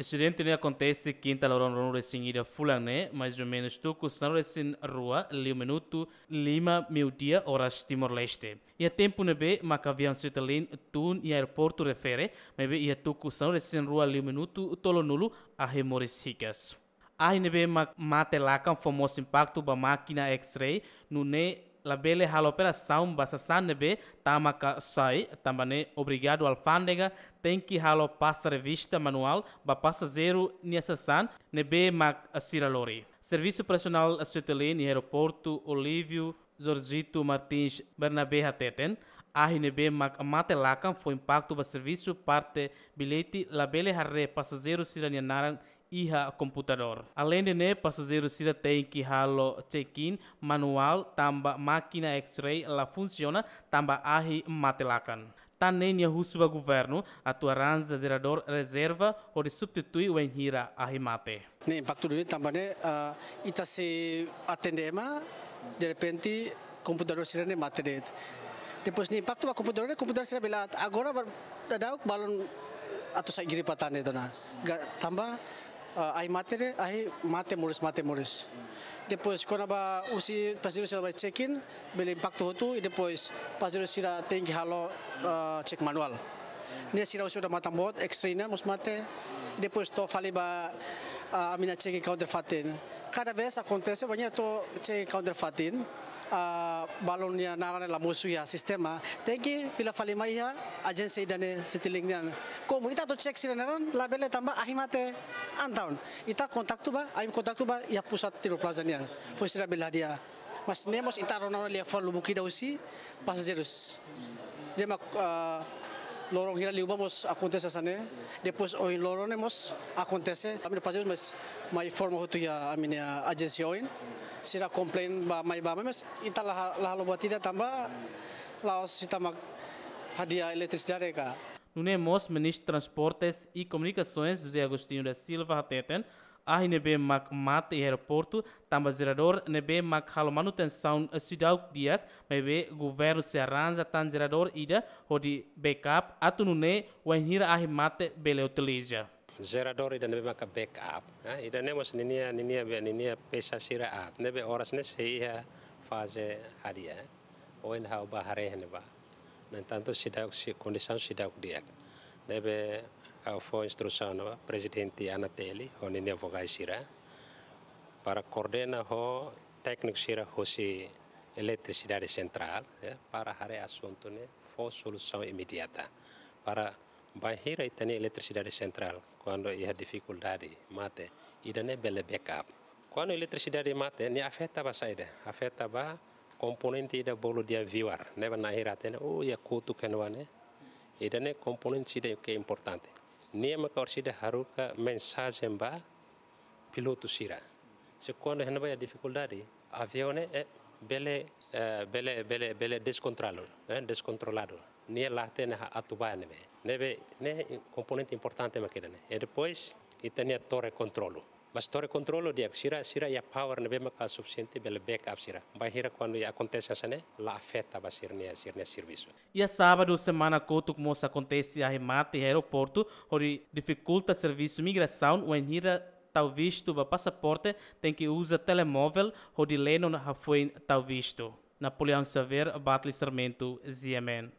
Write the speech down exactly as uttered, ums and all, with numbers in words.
Asidente ne'e akontese kinta loron ruanulu-resin-ida fulan ne'e, mais ou menus tuku sanulu-resin-rua liu minutu lima meiudia oras Timor-Leste. Iha tempu ne'ebé mak aviaun Citilink tun iha aeroportu refere, maibé iha tuku sanulu-resin-rua liu minutu tolunulu ahi moris hikas. Ahi ne'ebé mak mate lakan fó mós impaktu ba mákina X-ray, nune'e labele halo operasaun ba sasán ne'ebé tama ka sai, tanba ne'e obrigadu alfándega tenke halo pasa revista manuál ba pasajeiru nia sasán ne'ebé mak sira lori. Servisu operasionál Citilink iha aeroportu Olívio Jorgito Martins Bernabe hateten, ahi ne'ebé mak mate lakan fó impaktu ba servisu parte billete, labele haree pasajeiru sira-nia naran iha komputadór. Aleinde ne'e, pasajeiru sira tenke halo check-in manuál tanba mákina X-ray la funsiona tanba ahi mate lakan. Tan ne'e nia husu ba governu atu arranja jeradór rezerva hodi substitui wainhira ahi mate. Ne'e impaktu duni tanba ne'e, ah, ita sei atende ema, derrepente komputadór sira-ne'e mate de'it. Depois ne'e impaktu ba komputadór, komputadór sira bele aat. Agora ba, daudaun balun atu sai gripa tan de'it ona. Ga-, tanba, ah, ahi mate de'it, ahi mate moris, mate moris. Depois kona-ba husi pasajeiru sira bá check-in, bele impaktu hotu, i depois pasajeiru sira tenke halo, ah, check manuál. Ne'e sira husi odamatan boot, X-ray nian mós mate, depois to'o fali ba, ah, ami-nia check-in counter fatin. Kada vez akontese, bainhira to'o check-in counter fatin, ah, balun nia naran la mosu iha sistema, tenke fila fali mai iha ajénsia ida-ne'e Citilink nian. Komu ita atu check sira-nia naran, labele tanba ahi mate. Entaun ita kontaktu ba, ami kontaktu ba iha pusat Timor Plaza nian, foin sira bele hadi'a. Mas ne'e mós ita rona liafuan lubuk ida husi pasajeirus. Ida mak, ah, loron hira liubá mós akontese hanesan ne'e. Depois ohin loron ne'e mós akontese. Ami-nia pasajeirus mós mai informa hotu iha ami-nia ajénsia ohin. Sira komplain ba mai ba mai, mas ita la, la halo buat ida tanba la'ós ita mak hadi'a eletrisidade ka. Nune'e mós Ministru Transportes e Comunicações José Agostinho da Silva hateten, ahi ne'ebé mak mate iha aeroportu tanba jeradór ne'ebé mak halo manutensaun seidauk di'ak, maibé governu sei arranja tan jeradór ida hodi backup atu nune'e wainhira ahi mate bele utiliza. Jeradór ida ne'ebé maka backup, eh, ida-ne'e mós ninia, ninia be, ninia pesa sira aat, ne'ebé oras ne'e sei iha faze hadi'a, eh. Ohin ha'u bá haree iha ne'ebá. No entantu, seidauk, si-, kondisaun seidauk di'ak. Ne'ebé ha'u fó instrusaun ba Prezidente ANATL ho ninia vogais sira para koordena ho tékniku sira husi Eletrisidade Sentrál, ya, para haree asuntu ne'e, fó solusaun imediata. Para bainhira ita-nia Eletrisidade Sentrál, kuandu iha difikuldade, mate, ida-ne'e bele backup. Kuandu eletrisidade mate, nia afeta ba saida? Afeta ba komponente ida bolu de'it viewer, ne'ebé na'in-hira hatene, oh, iha kotuk iha ne'ebá ne'e. Ida-ne'e komponente ida ke importante. Nia maka orsida haruka mensajen ba pilotu sira. Se kuandu iha ne'ebá iha difikuldade, aviaun ne'e, eh, bele, eh, bele, bele, bele deskontrolu, eh, deskontroladu. Nia la hatene atu bá ne'ebé. Ne'ebé, ne'e komponente importante mak ida-ne'e. E depois, ita-nia torre kontrolu. Mas torre kontrolu di'ak, sira, sira iha power ne'ebé maka sufisiente bele backup sira. Bainhira kuandu iha akontese hanesan ne'e, la afeta ba sira-nia, sira-nia servisu. Iha sábadu semana kotuk mós akontese ahi mate iha aeroportu, hodi difikulta servisu migrasaun, wainhira tau vistu ba pasaporte, tenke uza telemovel hodi lenon hafoin tau vistu. Napoleão Xavier, Batli Sarmento, G M N.